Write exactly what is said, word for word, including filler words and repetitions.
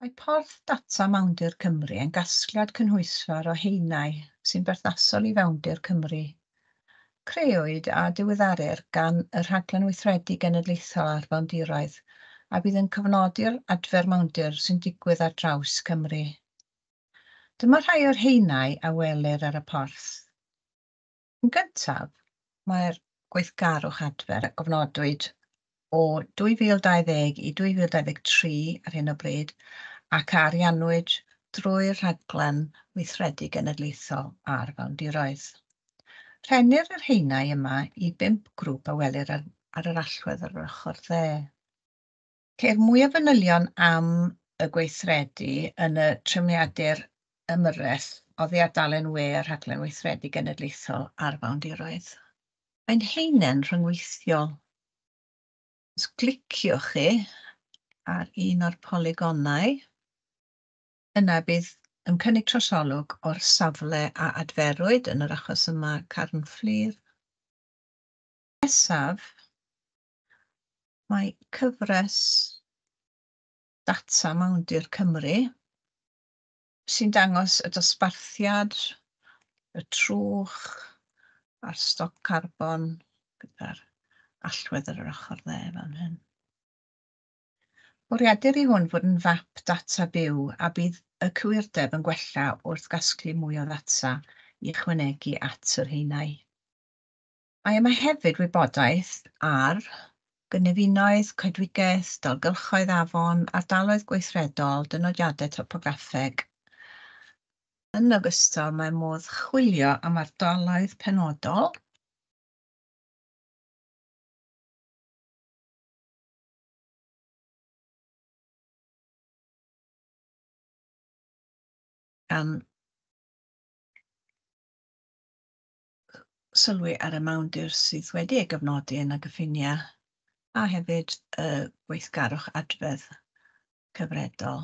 Mae porth data Mawndir Cymru yn gasgliad cynhwysfawr o haenau sy'n berthnasol i fewndir Cymru. Crëwyd a diweddarir gan y Rhaglen Weithredu Genedlaethol ar Fewndiroedd, a bydd yn cofnodi'r adfer mawndir sy'n digwydd ar draws Cymru. Dyma rhai o'r haenau a welir ar y porth. Yn gyntaf, mae'r gweithgarwch adfer a gofnodwyd o dwy fil dau ddeg i dwy fil dau ddeg tri ar hyn o bryd ac a ariannwyd drwy'r Rhaglen Weithredu Genedlaethol ar Fewndiroedd. Rhennir yr haenau yma i bump grŵp a welir ar, ar yr allwedd ar yr ochr dde. Ceir mwy o fanylion am y gweithredu yn y trefniadur ymyrraeth oddi ar dalen we y Rhaglen Weithredu Genedlaethol ar Fewndiroedd. Mae'n haenen rhyngweithiol. Os cliciwch chi ar un o'r polygonau, yna bydd yn cynnig trosolwg o'r safle a adferwyd, yn yr achos yma Carn Fflur. Nesaf, mae cyfres data Mawndir Cymru sy'n dangos y dosbarthiad, y trwch a'r stoc carbon gyda'r allwedd ar yr ochr dde fan hyn. Bwriadir i hwn fod yn fap data byw a bydd y cywirdeb yn gwella wrth gasglu mwy o ddata i ychwanegu at yr haenau. Mae yma hefyd wybodaeth ar gynefinoedd, coedwigaeth, dalgylchoedd afon, ardaloedd gweithredol, dynodiadau topograffeg. Yn ogystal, mae modd chwilio am ardaloedd penodol gan sylwi ar y mawndir sydd wedi ei gyfnodi yn y gyffiniau a hefyd y gweithgarwch adfedd cyfredol.